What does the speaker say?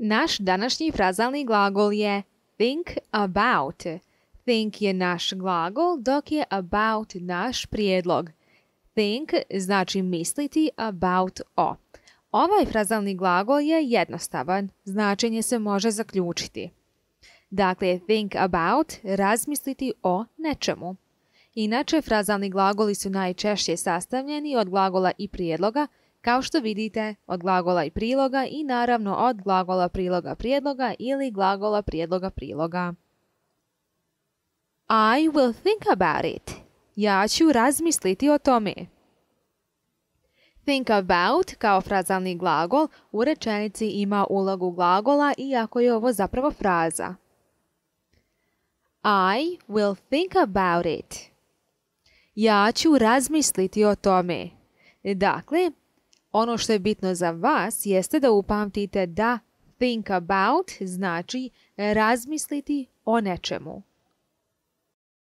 Naš današnji frazalni glagol je think about. Think je naš glagol, dok je about naš prijedlog. Think znači misliti, about o. Ovaj frazalni glagol je jednostavan, značenje se može zaključiti. Dakle, think about, razmisliti o nečemu. Inače, frazalni glagoli su najčešće sastavljeni od glagola i prijedloga, kao što vidite od glagola i priloga i naravno od glagola priloga prijedloga ili glagola prijedloga priloga. I will think about it. Ja ću razmisliti o tome. Think about kao frazalni glagol u rečenici ima ulogu glagola iako je ovo zapravo fraza. I will think about it. Ja ću razmisliti o tome. Dakle, ono što je bitno za vas jeste da upamtite da think about znači razmisliti o nečemu.